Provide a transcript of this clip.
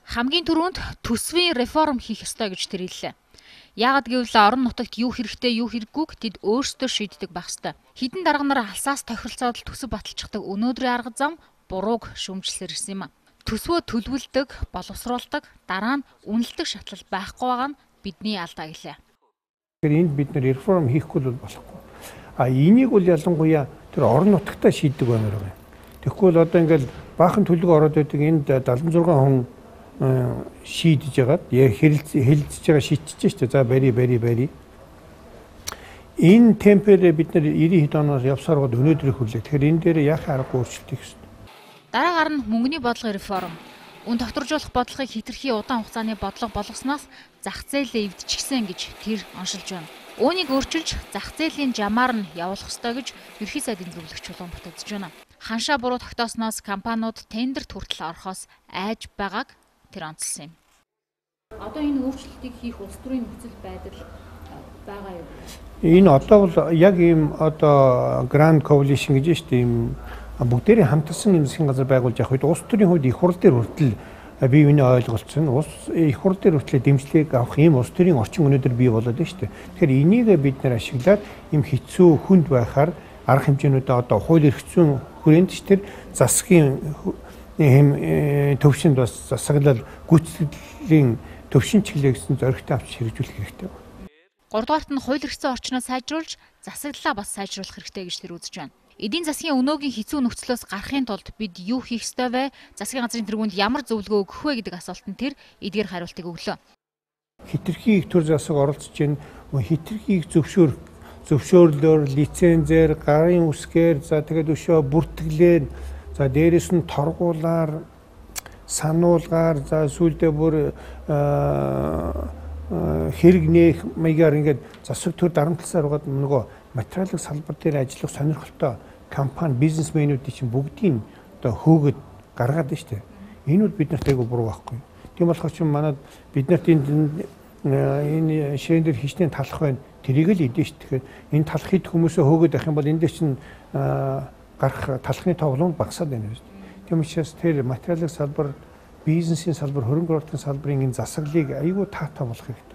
Хамгийн түрүүнд төсвийн реформ хийх ёстой гэж тэр хэллээ. Яагад гэвэл орон нутагт юу хэрэгтэй юу хэрэггүйг тэд өөрсдөө шийддэг байх ёстой. Хэдэн дарга нар алсаас тохиролцоод төсөв баталчихдаг өнөөдрийн арга зам бурууг шүүмжлэлээр ирсэн юм а. Төсвөө төлөвлөдөг, боловсруулдаг, дараа нь үнэлдэг шатлал байхгүй байгаа нь бидний алдаа гэлээ. Тэгэхээр энд бид нэр реформ хийхгүй бол болохгүй. Энийг бол ялангуяа тэр орон нутагтаа шийддэг баймаар байна. Тэгэхгүй бол одоо ингээл баахан төлөв ороод байдаг энд 76 хүн шийдэж яагаад хэлэлцэж байгаа шийдчихэж штэ. За бари. Энэ темпээр бид нар 90 хэд оноос явсаар гол өнөөдрийг хүрлээ. Тэгэхээр энэ дээр яхаа аргагүй өөрчлөлт хийх ёстой. Дараагаар нь мөнгөний бодлогын реформ. Үн тогтворжуулах бодлогыг хэтэрхий удаан хугацааны бодлого болгосноос зах зээлээ эвдчихсэн гэж тэр оншилж байна. Үүнийг өөрчилж зах зээлийн жамаар нь явуулах ёстой гэж ерхий сайдын зөвлөгч Улаанбаатар үзэж байна. Ханшаа буруу тогтоосноос компаниуд тендерт хүртэл орохоос айж байгааг тэр онцлсан юм. Одоо энэ өөрчлөлтийг хийх улс төрийн нөхцөл байдал байгаа юу? Энэ одоо бол яг ийм одоо Grand Coalition гэж штэ ийм бүгдээрээ хамтарсан юм засгийн газар байгуулж явах үед улс төрийн хувьд их хурл дээр хүртэл бие биенээ ойлголцсон. Улс их хурл дээр хүртэл дэмжлэг авах ийм улс төрийн орчин өнөөдөр бий болоод байна штэ. Тэгэхээр энийг бид нэр ашиглаад ийм хэцүү хүнд байхаар арга хэмжээнүүдээ одоо хууль эрх зүйн хүрээнд ч тэр засгийн төвшөнд бас засаглал гүйцэтгэлийн төвшин чиглэлээ гэсэн зоригтой авч хэрэгжүүлэх хэрэгтэй байна. 3 дугаарт нь хууль эрх зүйн орчноо сайжруулж засаглалаа бас сайжруулах хэрэгтэй гэж тэр үзэж байна. Эдийн засгийн өнөөгийн хэцүү нөхцлөөс гарахын тулд бид юу хийх ёстой вэ? Засгийн газрын тэргуунд ямар зөвлөгөө өгөх вэ гэдэг асуултанд тэр эдгээр хариултыг өглөө. Хэтэрхий их төр засаг оролцож байна. Хэтэрхийг зөвшөөрлөөр, лицензээр, гарын үсгээр, за тэгээд өшөө бүртгэлээр, за дээрэс нь торгуулаар, сануулгаар, за сүүлдээ бүр хэрэг нээх маягаар ингээд засаг төр дарамтласаар угаад нөгөө материалын салбар дээр ажиллах сонирхолтой компани, бизнесмэнүүдийн чинь бүгдийн одоо хөөгд гаргаад байна шүү дээ. Энүүд бид нарт айгүй буруу байхгүй. Тийм болохоор чинь манад бид нарт энэ ширээн дээр хичнээн талах байна. Тэрийг л идэж шүү. Тэгэхээр энэ талах хэд хүмүүсээ хөөгд авах юм бол энэ дээр чинь гарах талхны тоглоом багасаад байна шүү дээ. Тийм учраас тэр материалын салбар, бизнесийн салбар, хөрөнгө оруулалтын салбарын энэ засаглалыг айгүй таатай болох хэрэгтэй.